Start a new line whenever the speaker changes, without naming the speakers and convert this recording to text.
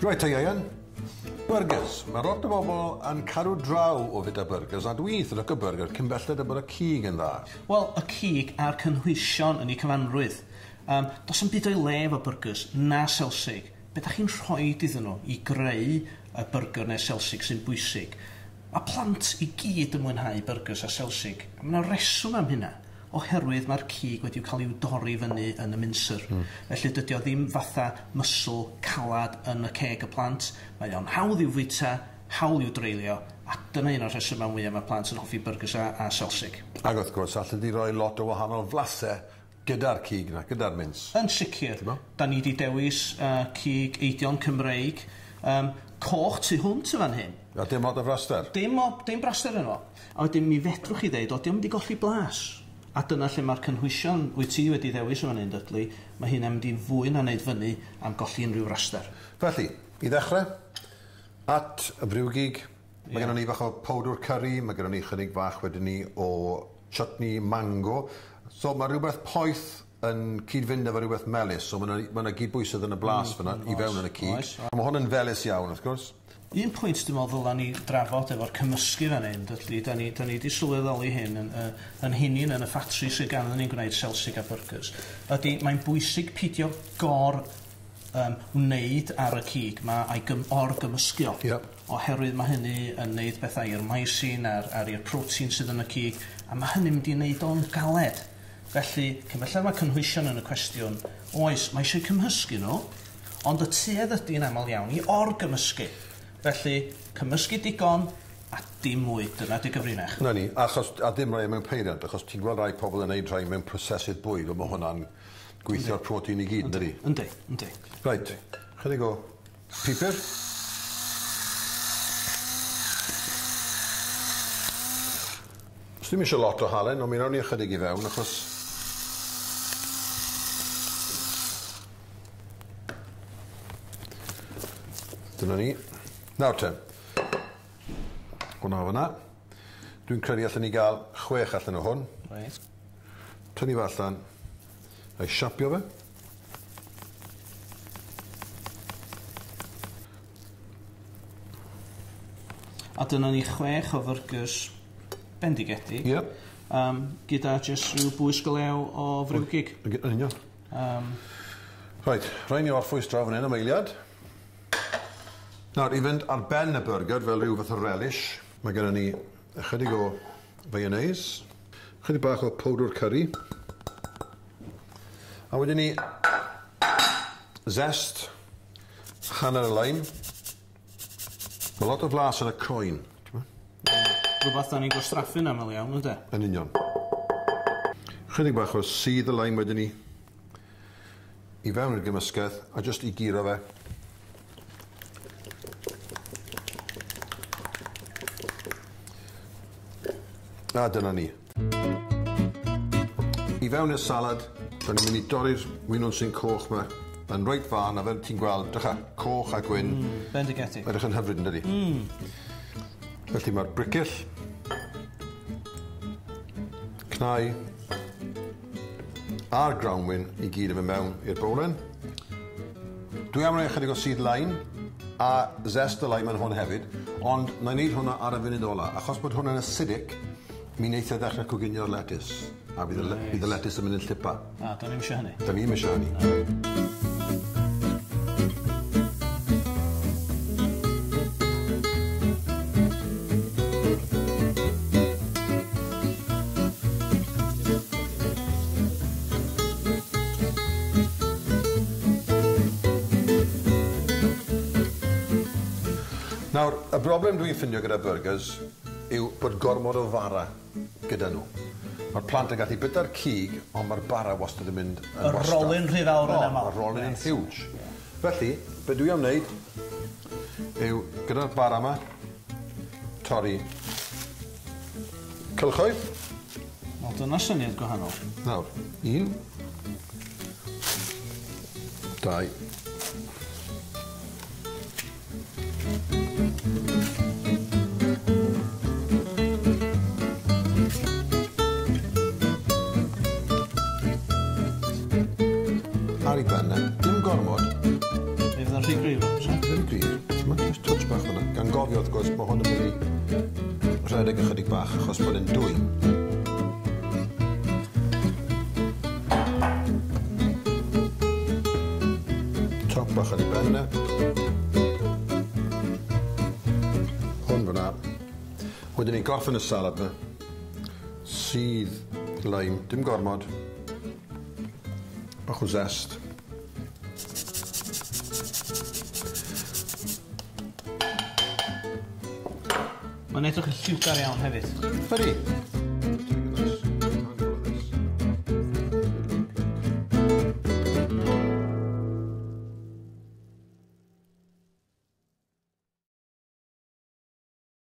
Reit te Ieuan, byrgyrs. Mae lot o bobl yn cadw draw o fita byrgyrs, a dwi eitha lico byrgyr cyn belled â bod y cig yn dda.
Wel, y cig a'r cynhwysion yn eu cyfanrwydd. Yym, do's 'am byd o'i le efo byrgyrs, na selsig. Be' 'dach chi'n rhoid iddyn nhw i greu y byrgyr neu'r selsig sy'n bwysig. Mae plant i gyd yn mwynhau byrgyrs a selsig, a ma' 'na reswm am hynna. Oherwydd mae'r cig wedi cael i'w dorri fyny yn y mincer. Felly dydy o ddim fatha muscle calad yn y ceg y plant. Mae o'n hawdd i'w fwyta, hawl i'w dreulio, a dyna un o'r rhesymau mwyaf mae plant yn hoffi byrgyrs a selsig.
Ac wrth gwrs, allet ti roi lot o wahanol flasau gyda'r cig 'na, gyda'r mince.
Yn sicr. Da ni 'di dewis cig eidion Cymreig, coch tu hwnt yn fan hyn.
A dim lot o fraster?
Dim o, dim braster yno fo. A wedyn mi fedrwch chi ddeud, o, 'di o'm 'di golli blas. A dyna lle mae'r cynhwysion wyt ti wedi ddewis yn fan hyn, Dudley, mae hynna'n mynd i fwy na wneud fyny am golli unrhyw fraster.
Felly, i ddechrau, at y briwgig, mae gennon ni bach o powdwr curry, mae gennon ni chydig fach wedyn ni o chutney mango. So mae rhywbeth poeth yn cyd-fynd efo rhywbeth melys, so mae 'na ma' 'na gydbwysedd yn y blas fyna i fewn yn y cig.
Oes.
Mae hwn yn felys iawn, wrth gwrs.
Un pwynt dwi'n meddwl ddyla ni drafod efo'r cymysgu fan hyn, Dudley, da ni, da ni 'di sylweddoli hyn yn, yn hunin yn y ffatri sydd ganddyn ni'n gwneud selsig a byrgyrs, ydy mae'n bwysig pidio gor wneud ar y cig 'ma a'i gym- or-gymysgu o. Oherwydd mae hynny yn neud bethau i'r mycin a'r, ar i'r protein sydd yn y cig, a mae hynny'n mynd i wneud o'n galed. Felly, cyn belled mae cynhwysion yn y cwestiwn, oes, mae eisiau cymhysgu nhw, ond y tuedd ydy'n aml iawn i or-gymysgu. Felly, cymysgu digon a dim mwy, dyna 'di gyfrinach.
'Na ni, achos, a dim rhai mewn peiriant, achos ti'n gweld rai pobl yn neud rhai mewn prosesydd bwyd, ond mae hwnna'n gweithio'r protein i gyd, yndydi?
Yndi, yndi.
Reit, chydig o pupur. Os ddim eisiau lot o halen, ond mi wnawn ni ychydig i fewn, achos dyna ni. Nawr te, hwnna o fyna. Dwi'n credu allan ni gael 6 allan o hwn.
Reit.
Tynnu fe allan, a'i siapio fe.
A dyna ni 6 o fyrgyrs bendigedig. Gyda jyst rhyw bwys go lew o friwgig.
Yn union. Reit, rhaid ni orffwys draw fan hyn am eiliad. Nawr, i fynd ar ben y byrgyr fel rhyw fath o relish, mae gennym ni ychydig o mayonnaise, ychydig bach o powdwr curry, a wedyn ni zest, hanner y lime. Mae lot o flas yn y croen.
Rhywbeth da ni'n gwastraffu'n aml iawn, ynde?
Yn union. Chydig bach o sudd y lime wedyn ni i fewn i'r gymysgedd a jyst i guro fe. A dyna ni. I fewn i'r salad, da ni'n mynd i dorri'r winwnsyn coch 'ma yn reit fân, a fel ti'n gweld, drycha, coch a gwyn.
Bendigedig.
Edrych yn hyfryd, yn dydi? Felly mae'r bricyll, cnau, a'r grawnwin i gyd yn mynd mewn i'r bowlen. Dwi am roi ychydig o sudd lime a zest y lime yn hwn hefyd, ond na i wneud hwnna ar y funud ola. Achos bod hwnna'n acidic, mi wneith e ddechrau coginio'r letys, a bydd y letys yn mynd yn llipa.
A, da ni'm isio hynny.
Da ni'm isio hynny. Nawr, y broblem dwi'n ffindio gyda burgers yw bod gormod o fara gyda nhw. Mae'r plant yn gallu byta'r cig, ond mae'r bara wastad yn mynd yn
Y
wastraff.
rolyn rhy fawr yn
O,
aml.
Mae'r rolyn yn huge. Felly, be dwi am wneud yw, gyda'r bara yma, torri cylchoedd.
Wel, dyna syniad gwahanol.
Nawr, 1, 2, Ar ei ben e, dim gormod.
Mi fydd o'n rhy gryf, so.
Ddim gryf. Ti'n just touch bach fyna. Gan gofio, wrth gwrs, mae hwn yn mynd i rhedeg ychydig bach achos bod e'n dwy. Top bach ar ei ben e. Hwn fyna. Wedyn ni'n gorffen y salad yma. Sydd lime, dim gormod. Bach o zest.
Mae'n edrych yn lliwgar iawn hefyd.
Ydy.